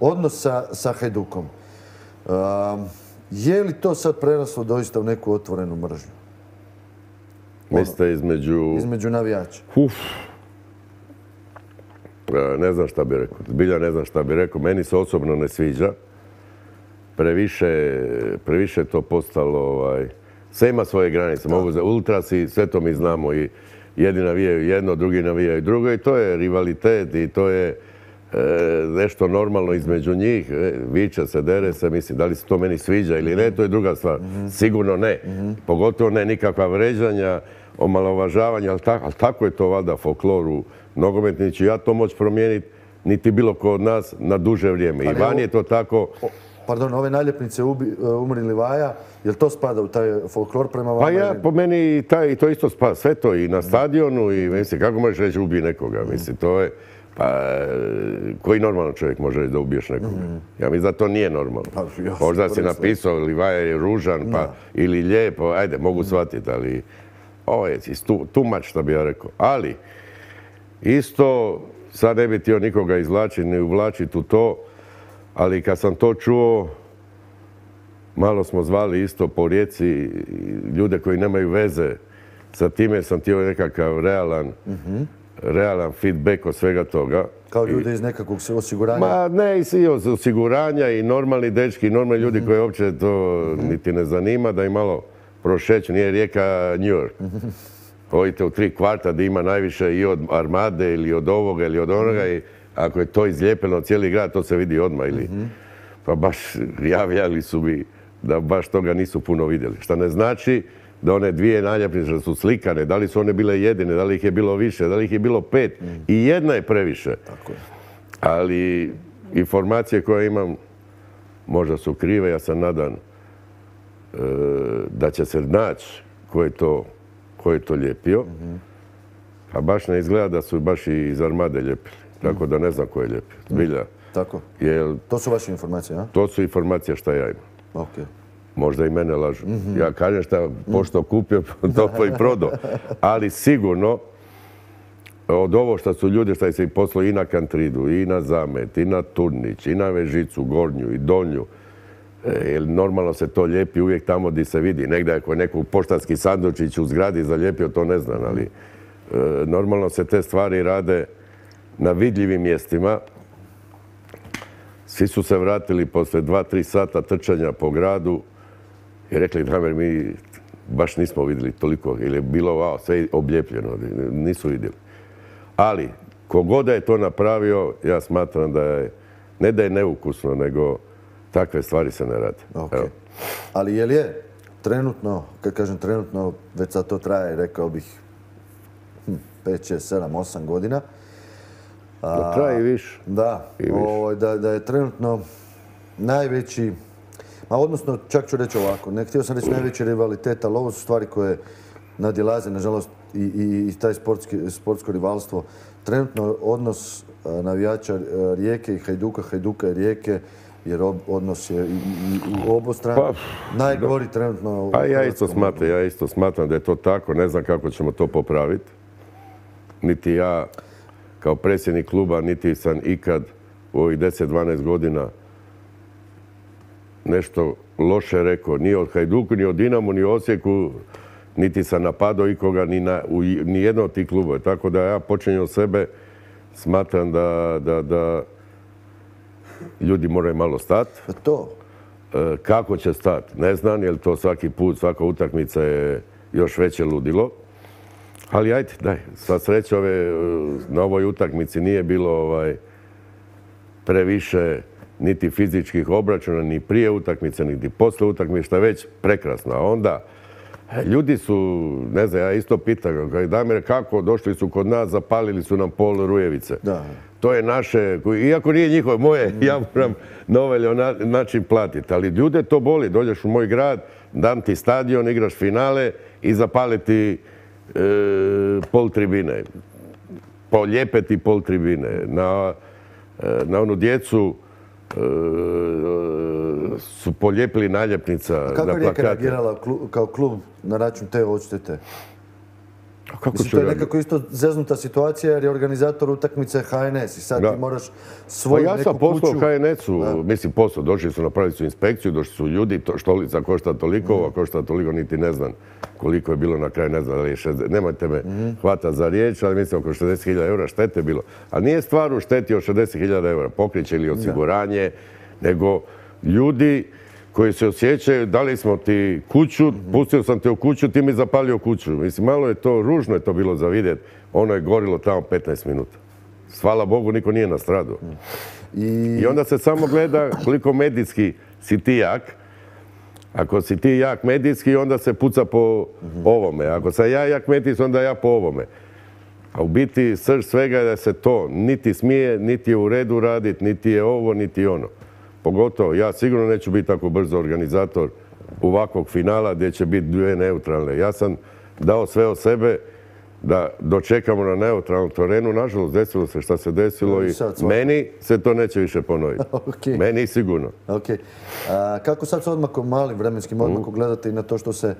odnos sa Hajdukom. Je li to sad preraslo doista u neku otvorenu mržnju? Mislite između navijača? Ne znam šta bi rekao. Zbilja ne znam šta bi rekao. Meni se osobno ne sviđa. Previše to postalo... Sve ima svoje granice. Mogu za ultrasi, sve to mi znamo. I jedni navijaju jedno, drugi navijaju drugo. I to je rivalitet i to je nešto normalno između njih. Viče se, dere se. Mislim, da li se to meni sviđa ili ne, to je druga stvar. Sigurno ne. Pogotovo ne nikakva vređanja, omalovažavanja. Ali tako je to valjda folklor u nogometni. Neću ja to moći promijeniti, niti bilo ko od nas na duže vrijeme. I van je to tako... Pardon, ove naljepnice Umri Livaja, je li to spada u taj folklor prema vama? Pa ja, po meni, to isto spada. Sve to i na stadionu i, mislim, kako možeš reći ubij nekoga? Mislim, to je... Pa, koji normalan čovjek može reći da ubiješ nekoga? Ja mislim da to nije normalno. Možda si napisao Livaja je ružan, pa, ili lijepo, ajde, mogu shvatiti, ali... Ovo je too much, što bi ja rekao. Ali, isto, sad ne bi htio nikoga izvlačiti, ni uvlačiti u to, ali kad sam to čuo, malo smo zvali isto po Rijeci ljude koji nemaju veze sa time, sam htio nekakav realan feedback od svega toga. Kao ljude iz nekakvog osiguranja? Ma ne, i od osiguranja i normalni dečki, i normalni ljudi koji uopće to niti ne zanima, da im malo prošeću. Nije Rijeka New York. Odite u 3 kvarta da ima najviše i od Armade ili od ovoga ili od onoga i ako je to izlijepeno cijeli grad, to se vidi odmah. Pa baš javljali su mi da baš toga nisu puno vidjeli. Što ne znači da one 2 naljepnice su slikane, da li su one bile jedine, da li ih je bilo više, da li ih je bilo 5. I jedna je previše. Ali informacije koje imam možda su krive, ja sam nadan da će se naći ko je to lijepio. A baš ne izgleda da su baš i iz Armade lijepili. Tako da ne znam ko je lijepio. Zbilja. Tako. To su vaše informacije, a? To su informacije šta ja imam. Možda i mene lažu. Ja kažem šta pošto kupio, to i prodao. Ali sigurno od ovo što su ljudi što se poslao i na Kantridu, i na Zamet, i na Turnić, i na Vežicu, Gornju i Donju. Jer normalno se to lijepi uvijek tamo gdje se vidi. Negdje ako je nekog poštanski sandučić u zgradi zalijepio, to ne znam, ali normalno se te stvari rade na vidljivim mjestima. Svi su se vratili posle 2-3 sata trčanja po gradu i rekli, Damir, mi baš nismo vidjeli toliko, ili je bilo sve obljepljeno, nisu vidjeli. Ali, kogod je to napravio, ja smatram da je, ne da je neukusno, nego takve stvari se ne rade. Ali je li je trenutno, kad kažem trenutno, već sad to traje, rekao bih, 5, 6, 7, 8 godina. Traje i više. Da je trenutno najveći, odnosno čak ću reći ovako, ne htio sam reći najveći rivalitet, ali ovo su stvari koje nadilaze, nažalost, i taj sportsko rivalstvo. Trenutno odnos navijača Rijeke i Hajduka, Hajduka i Rijeke, jer odnos je u obostranu najgori trenutno. Pa ja isto smatram da je to tako. Ne znam kako ćemo to popraviti. Niti ja kao predsjednik kluba, niti sam ikad u ovih 10-12 godina nešto loše rekao. Ni od Hajduku, ni od Dinamu, ni Osijeku, niti sam napadao ikoga, ni jedno od tih klubova. Tako da ja počinjem od sebe, smatram da ljudi moraju malo stati. Kako će stati? Ne znam, jer to svaki put, svaka utakmica je još veće ludilo. Ali ajde, daj, sva sreća na ovoj utakmici nije bilo previše niti fizičkih obračuna, ni prije utakmice, niti posle utakmice, što je već prekrasno. A onda, ljudi su, ne znam, ja isto pitam, Damir, kako došli su kod nas, zapalili su nam pol Rujevice. To je naše, iako nije njihovo, moje, ja moram na ovaj način platiti. Ali ljude to boli, dođeš u moj grad, dam ti stadion, igraš finale i zapaliti pol tribine. Polijepeti pol tribine. Na onu djecu su polijepili naljepnica na plakate. Kako je Rijeka reagirala kao klub na račun te odštete? Mislim, to je nekako isto zeznuta situacija jer je organizator utakmice HNS i sad ti moraš svoju neku kuću... Ja sam poslao HNS-u, mislim poslao, došli su napraviti su inspekciju, došli su ljudi, štolica košta toliko, a košta toliko, niti ne znam koliko je bilo na kraju, ne znam da li je 60, nemojte me hvatati za riječ, ali mislim oko 60.000 eura štete bilo. A nije stvar u šteti od 60.000 eura, pokriće ili osiguranje, nego ljudi koji se osjećaju, dali smo ti kuću, pustio sam te u kuću, ti mi zapalio kuću. Mislim, malo je to, ružno je to bilo za vidjeti. Ono je gorilo tamo 15 minuta. Hvala Bogu, niko nije nastradao. I onda se samo gleda koliko medijski si ti jak. Ako si ti jak medijski, onda se puca po ovome. Ako sam ja jak medijski, onda ja po ovome. A u biti srž svega je da se to niti smije, niti je u redu raditi, niti je ovo, niti ono. Pogotovo, ja sigurno neću biti tako brzo organizator ovakvog finala gdje će biti dvije neutralne. Ja sam dao sve od sebe da dočekamo na neutralnom terenu. Nažalost, desilo se šta se desilo i meni se to neće više ponoviti. Meni sigurno. Kako sad s odmakom, malim vremenskim odmakom gledate i na to što se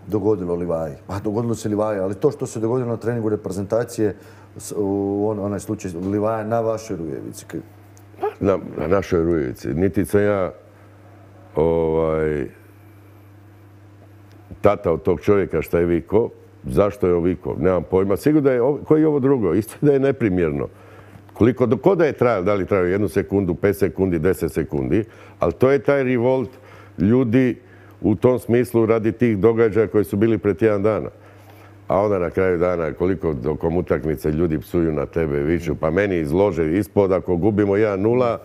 dogodilo Livaji? Dogodilo se Livaji, ali to što se dogodilo na treningu reprezentacije u onaj slučaj Livaja na vašoj Rujevici? Na našoj Rujevici. Niti sam ja tata od tog čovjeka šta je vikao, zašto je vikao, nemam pojma. Sigurno da je, koji je ovo drugo, isto da je neprimjerno. Ko da je trajalo, da li trajalo 1 sekundu, 5 sekundi, 10 sekundi, ali to je taj revolt ljudi u tom smislu radi tih događaja koji su bili pred tjedan dana. A onda na kraju dana koliko dokom utakmice ljudi psuju na tebe, viču, pa meni izlože ispod, ako gubimo 1-0,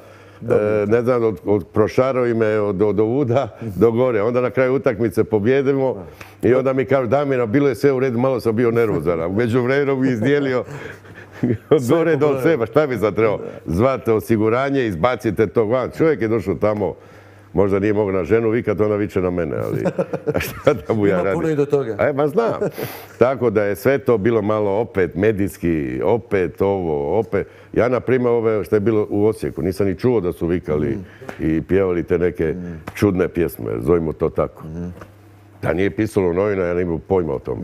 ne znam, prošarovi me od ovuda do gore. Onda na kraju utakmice pobjedimo i onda mi kažu, Damira, bilo je sve u redu, malo sam bio nervozan. A među vremenom bi izdijelio od gore do seba. Šta bi sad trebao? Zvate osiguranje, izbacite to van. Čovjek je došao tamo, možda nije mogao na ženu vikat, ona viče na mene, ali šta da mu ja radim? Ima puno i do toga. Ma znam. Tako da je sve to bilo malo opet medijski, opet ovo, opet. Ja, na primjer, ove što je bilo u Osijeku, nisam ni čuo da su vikali i pjevali te neke čudne pjesme, zovimo to tako. Da nije pisalo u novina, ja ne imam pojma o tome.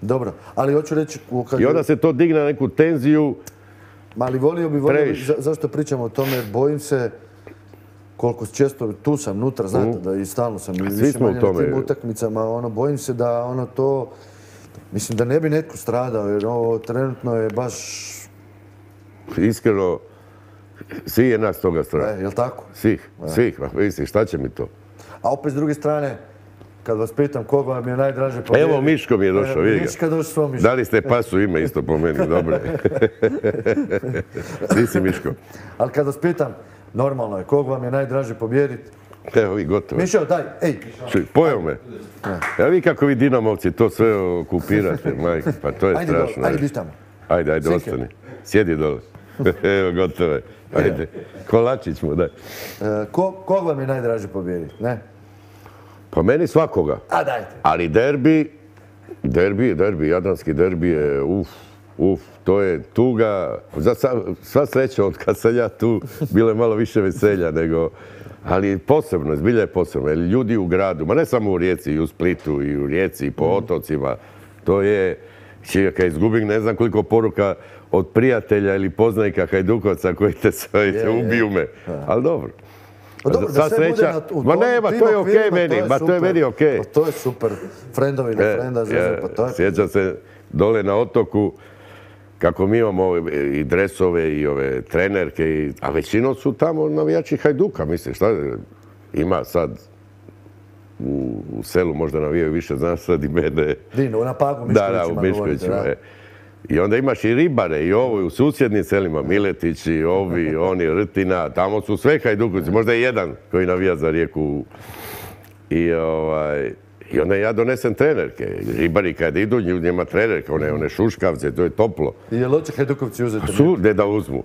Dobro, ali hoću reći... I onda se to digne na neku tenziju. Ali volio bi, zašto pričamo o tome, bojim se koliko često, tu sam, nutra, znate, da i stalno sam više manje na tim utakmicama, bojim se da to, mislim da ne bi netko stradao, jer ovo trenutno je baš... Iskreno, svi je nas toga strah. Jel' tako? Svih, mislim, šta će mi to? A opet s druge strane, kad vas pitam koga vam je najdraže pobjediti... Evo, Miško mi je došao, vidi ga. Miška došao svoj Miško. Dali ste pasu ime isto po meni, dobro je. Ti si Miško. Ali kad vas pitam, normalno je, koga vam je najdraže pobjediti? Evo vi, gotovo. Mišo, daj, ej! Pojeo me. Evo vi kako vi Dinamovci to sve okupirate, majke, pa to je strašno. Ajde, biš tamo. Ajde, ostani. Sjedi dole. Evo, gotovo je. Ajde, kolačić mu, daj. Koga vam je najdraže pobjediti, ne? Pa meni svakoga. A dajte. Ali derbi, jadranski derbi je, to je tuga. Sva sreća od kad sam ja tu, bilo je malo više veselja nego... Ali posebno, zbilja je posebno. Ljudi u gradu, ma ne samo u Rijeci, i u Splitu, i u Rijeci, i po otocima, to je... Kad izgubim ne znam koliko poruka od prijatelja ili poznanika Hajdukovca koji te ubiju me. Ali dobro. Dobro, da sve bude na tom to je okej meni, to je meni okej. To je super. Frendovi na frenda, pa to je... Sjećam se dole na otoku kako mi imamo i dresove i ove trenerke, a većinom su tamo navijači Hajduka, mislim, šta ima sad u selu možda navijaju više, znaš sad i mene. Dino, na Pagu Miškovićima. Da, u Miškovićima. I onda imaš i ribare i ovo, i u susjednim selima, Miletići, ovi, oni, Rtina, tamo su sve Hajdukovci, možda je jedan koji navija za Rijeku. I onda ja donesem trenerke. Ribari kad idu, njima trenerke, one šuškavce, to je toplo. I je loće Hajdukovci uzeti? Ne da uzmu.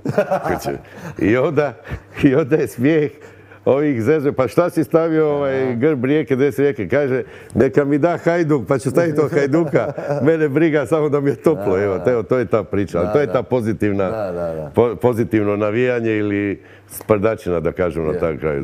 I onda je smijeh ovih zezve, pa šta si stavio grb Rijeke, 10 Rijeke, kaže, neka mi da Hajduk, pa ću staviti od Hajduka, mene briga samo da mi je toplo, evo, to je ta priča, ali to je ta pozitivno navijanje ili sprdačina, da kažem, na taj kraju.